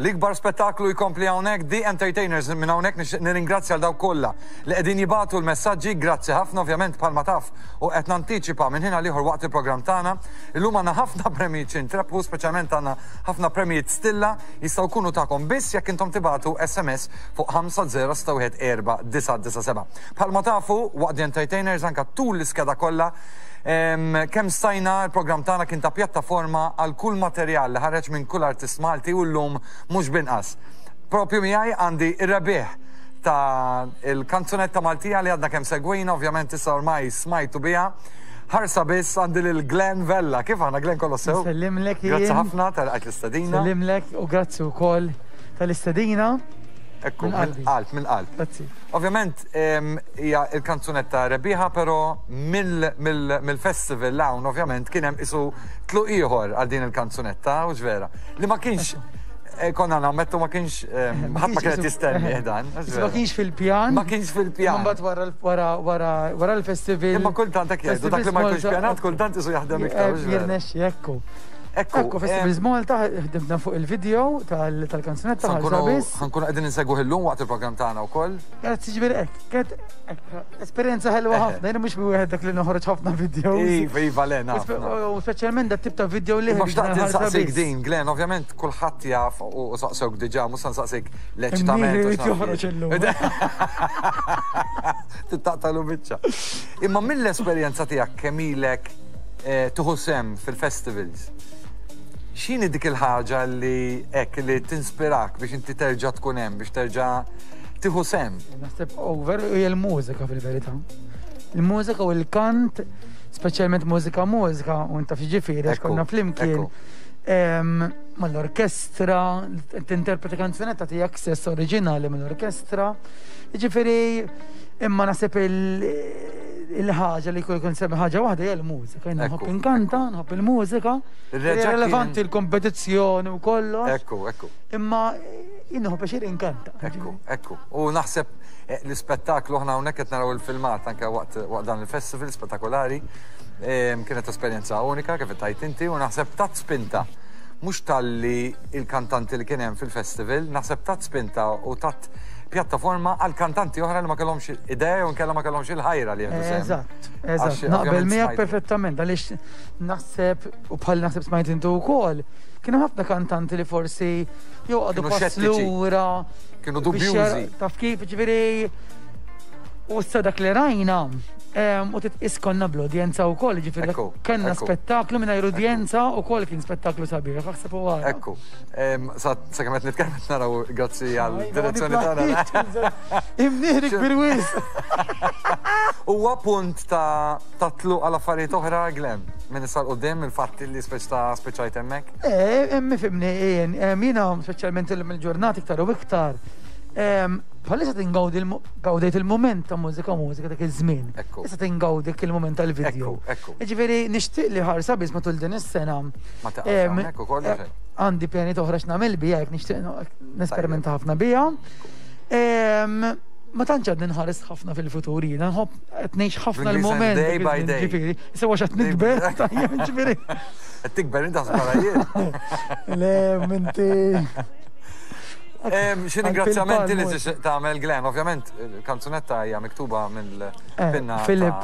L-ikbar spettaklu jkompli hawnhekk The Entertainers minn hawnhekk nixtieq nirringrazzja għal dawk kollha li qegħdin jibagħtu l-messaġġi, grazzi ħafna ovvjament bħalma taf u qed nantiċipa minn ħin għal ieħor waqt il-programm tagħna. Illum għandna ħafna premjijiet xi ntrebħu, speċjalment għandna ħafna premjijiet stilla jistgħu jkunu tagħkom biss jekk intom tibagħtu SMS fuq 5061497. Bħalma tafu waqt The Entertainers anke tul l-iskeda kollha Kemm stajna, il-programm tagħna kien ta' pjattaforma għal kull materjal li ħareġ minn kull artist Malti u llum mhux b'inqas. Propju miegħi għandi r-rebbieħ ta' il-kanzunetta Maltija li għadna kemm segwejna, ovvjament issa ormai smajtu biha. Ħarsa biss għandi lil Glenn Vella. Kif aħna Glenn kollox sew? Nsellimlek Grazzi jien. ħafna tal-qajt l-istedina. Nsellimlek u grazzi wkoll tal-istedina. Ekku, Minn qalbi. mill-qalb, mill-qalb. Grazzi. Ovvjament hija l-kanzunetta rebbieħa però mill-festival 'l hawn ovvjament kien hemm qisu tluq ieħor għal din il-kanzunetta, hux vera? Li ma kienx eh, konna nammettu ma kienx ħadd ma kienet jistenni eh, dan. Ma kienx fil-pjan. Ma kienx fil-pjan. Mbagħad wara wara wara wara l-festival. Imma kultant hekk jgħidu dak li ma jkunx pjanat kultant isu jaħdem iktar. Eh, jirnexxi ekku. Ekku, Ekku, Festivals Malta ħdimna fuq il-video tal-kanzunetta Ħankunu qegħdin insegwuh illum waqt il-programm tagħna wkoll. Grazzi ġifieri hekk, kienet esperjenza ħelwa ħafna, jiena mhux wieħed dak li noħroġ ħafna videos. Iva, iva, le naf. U speċjalment dat tip ta' video li. Ma xtaqt insaqsik din, Glenn, ovvjament kulħadd jaf u saqsewk diġà, mhux se nsaqsik l-eċitament. Joħroġ illum. Tittaqtalu biċċa. Imma mill-esperjenza tiegħek kemm ilek eh, tieħu sehem fil-festivals, x'inhi dik il-ħaġa li hekk li tinspirak biex inti terġa' tkun hemm, biex terġa' tieħu sehem? Naħseb over hija l-mużika fil-verità. Il-mużika u l-kant, speċjalment mużika mużika, u taf ġifieri għax konna flimkien. Mal-orkestra, tinterpreta kanzunetta tiegħek stess oriġinali mill-orkestra. Ġifieri imma naħseb il-ħaġa li kull semmi ħaġa waħda hija l-mużika. Jiena nħobb inkanta, nħobb il-mużika. Relevanti l-kompetizzjoni u kollox. Ekku, ekku. Imma jien nħobb biex inkanta. Ekku, ekku. U naħseb eh, l-ispettaklu aħna hawnhekk qed naraw il-filmat anke waqt dan il-festival spettakolari. Kienet esperjenza unika kif tajt inti u naħseb tat spinta mhux talli il-kantanti li kien hemm fil-festival, naħseb tat spinta u tat pjattaforma għal kantanti oħra li ma kellhomx idea jew inkella ma kellhomx il-ħajra li jieħdu sehem. Eżatt, eżatt. Naqbel miegħek perfettament għaliex naħseb u bħal naħseb smajt intu wkoll, kienu ħafna kantanti li forsi jew għadu pass lura. Kienu dubjużi. Taf kif, ġifieri u issa dak li rajna u titqis konna bl-udjenza wkoll, ġifieri kellna spettaklu mingħajr udjenza wkoll kien spettaklu sabiħ, aħseb u ara. Ekku. Sa kemm qed nitkellem qed naraw grazzi għal direzzjoni tagħna. Imnieħri kbir wis. Huwa punt ta' tluq għal affarijiet oħra, Glenn, minn issa 'l quddiem il-fatt li speċ ta' spiċċajt hemmhekk? Eh, fimni, jien, jiena speċjalment illum il-ġurnata iktar u iktar. Bħalissa tingawdi gawdejt il-mument ta' mużika mużika dak iż-żmien. Issa tingawdi il-mument tal-video. Ġifieri nixtieq li ħarsa biss matul din is-sena. Ma taqgħux hawnhekk ukoll. Eh, għandi pjanijiet oħra x'nagħmel biha jekk nixtieq nesperimenta ħafna biha. Ma tantx għadni nħares ħafna fil-futur jiena, nħobb qed ngħix ħafna l-mument. Day by day. Ġifieri, sewa x'qed nikber, tajjeb ġifieri. Qed tikber inti taħseb jien. Le, minti. Xi ringrazzjamenti li tixtieq tagħmel Glenn, ovvjament il-kanzunetta hija miktuba mill-pinna. Eh, Philip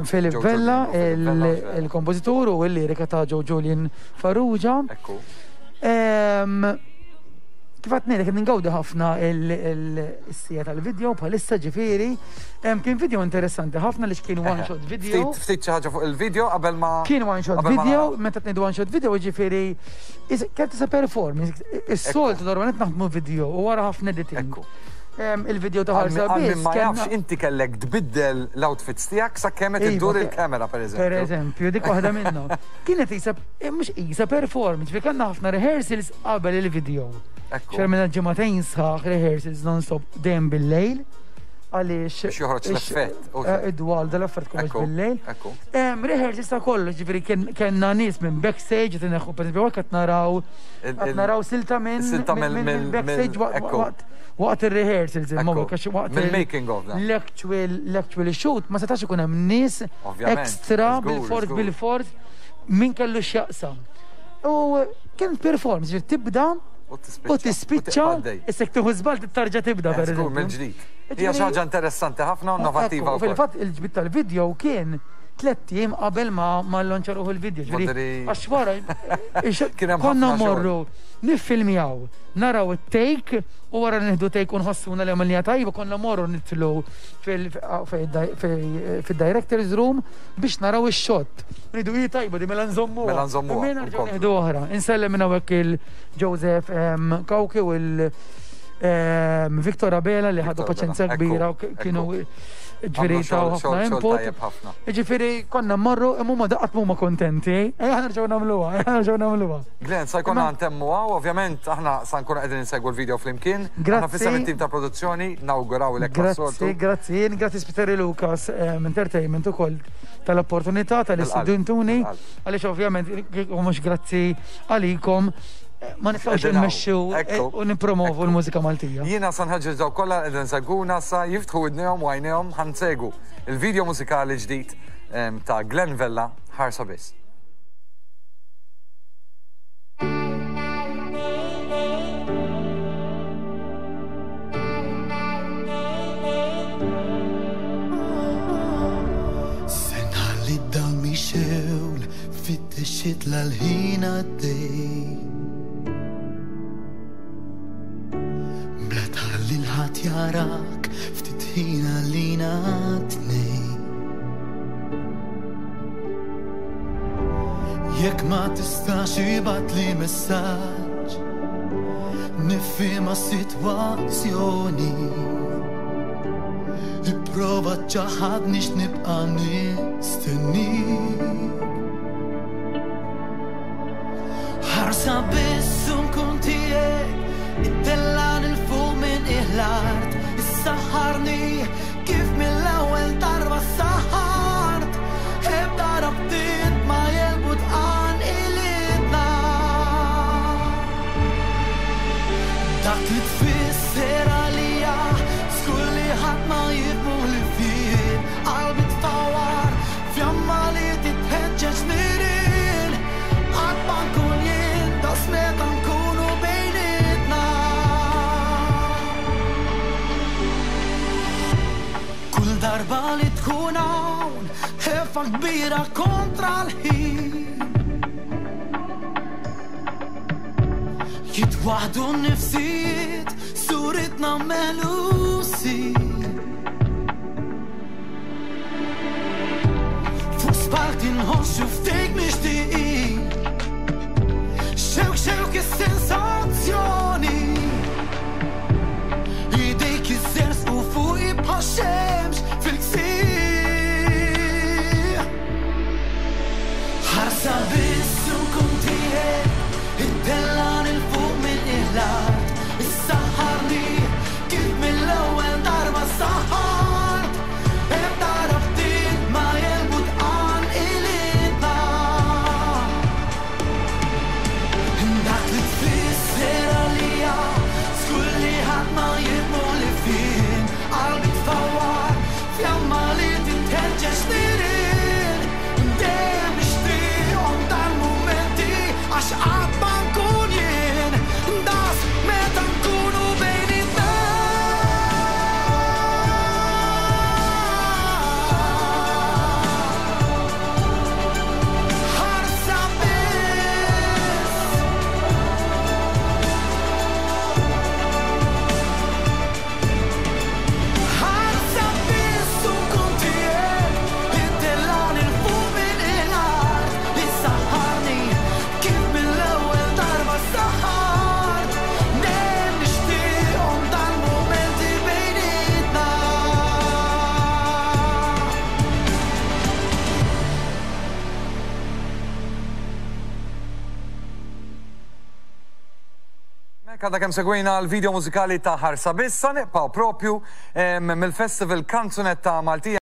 Philip Vella, il-kompożitur u l-lirika ta' Joe Julian Farrugia. Ekku. Kif qed ngħidlek ningawdi ħafna il-sija tal-video bħalissa ġifieri. Kien video interessanti ħafna li kien one shot video. Ftit xi ħaġa fuq il-video qabel ma. Kien one shot video, meta tnejdu one shot video ġifieri kien tisa performance. Is-soltu normalment naħdmu video u wara ħafna editing. Ekku. Il-video ta' ħarsa biss. Ma jafx inti kellek tbiddel l-outfits tiegħek sakemm qed iddur iva, il-kamera pereżempju. Pereżempju, dik waħda minnhom. Kienet isa eh, mhux isa performance, fi kellna ħafna rehearsals qabel il-video. Xermina ġimagħtejn sħaħ rehearsals non-stop dejjem bil-lejl għaliex. Biex joħroġ l-effett. Eh, id-dwal dal-affert kollox bil-lejl. Rehearsals ta' kollox, ġifieri kellna nies minn backstage, qed ineħħu pereżempju qed naraw qed naraw silta minn silta minn backstage waqt waqt ir-rehearsals imma għax waqt il-making of l-actual l-actual shoot ma setax ikun hemm nies extra bil-fors bil-fors min kellu x'jaqsam. U kien performance, tibda. U tispiċċa, issa jekk tieħu żball tarġa' tibda per eżempju. Mill-ġdid. Hija xi ħaġa interessanti ħafna u innovattiva. Fil-fatt il-ġbid tal-video kien tlett ijiem qabel ma ma llonċa ruħu l-video. Ġifieri għax wara konna mmorru niffilmjaw, naraw it-take u wara li nieħdu take u nħossuna li għamilniha tajba konna mmorru nidħlu fid-director's room biex naraw ix-shot. Ngħidu hi tajba di mela nżommuha. Mela nżommuha. Mela nerġgħu nieħdu oħra. Insellem minn hawnhekk il-Joseph Cauchi u l Victor Abela li ħadu paċenzja kbira u kienu ġifieri taw ħafna input. Ġifieri konna mmorru imma huma daqat huma kontenti. Ejja nerġgħu nagħmluha, ejja nerġgħu nagħmluha. Glenn, sa jkollna ntemmu hawn, ovvjament aħna sa nkunu qegħdin insegwu l-video flimkien. Aħna f'isem it-tim ta' produzzjoni nawgurawlek Grazzi, grazzi, grazzi Spiteri Lucas Entertainment ukoll tal-opportunità tal istudentuni għaliex ovvjament kieku mhux grazzi għalikom ma nistgħux immexxu u nippromovu l-mużika Maltija. Jiena sa nħeġġeġ dawk kollha li qegħdin isegwuna sa jiftħu widnejhom u għajnejhom ħa nsegwu il-video mużikali ġdid ta' Glenn Vella Ħarsa Biss. Se nħalli d-dawl mixewl fit-tixxitla l-ħin għaddej. Bla tħalli l-ħadd jarak ftit ħin għalina tnej. Jekk ma tistax ibgħatli messaġġ Nifhimha s-sitwazzjoni Ipprova ċċaħħadni x'nibqa' nistennik Ħarsa biss u nkun tiegħek Ittellgħani 'l fuq minn qiegħ l-art Issaħħarni Kif mill-ewwel darba ssaħħart, ebda rabtiet ma jegħlbu tqanqilitna. Dak li tfisser għalija, żgur li ħadd ma jifhmu ħlief jien. Qalbi tfawwar, fjamma li titħeġġeġ nirien. Qatt ma nkun jien daqs meta nkunu bejnietna. Kull darba li tkun hawn, ħefa kbira kontra l-ħin. Jitwaħdu n-nifsijiet, suritna melusi. Fuq spalti nħossu ftit mixtieqin. Xewk xewk is-sensazzjoni. Idejk iżżerżqu fuqi bħax-xemx fil-ksieħ. Ħarsa biss u nkun tiegħek, ittellgħani 'l fuq minn qiegħ l-art, issaħħarni kif mill-ewwel darba ssaħħart. Ebda rabtiet ma jegħlbu tqanqilitna. Dak li tfisser għalija, żgur li ħadd ma jifhmu li fien. Qalbi tfawwar, fjamma li titħeġġeġ nirien. Dejjem nixtieqhom dal-mumenti għax qatt ma nkun jien daqs meta nkunu bejnietna. Ħarsa biss. Ħarsa biss u nkun tiegħek, ittellgħani 'l fuq minn l-art, issaħħarni kif mill-ewwel darba ssaħħart. Dejjem nixtieqhom dal-mumenti bejnietna. Mek għadha kemm segwejna l-video mużikali ta' Ħarsa Biss, sa nibqgħu propju mill-festival Kanzunetta Maltija.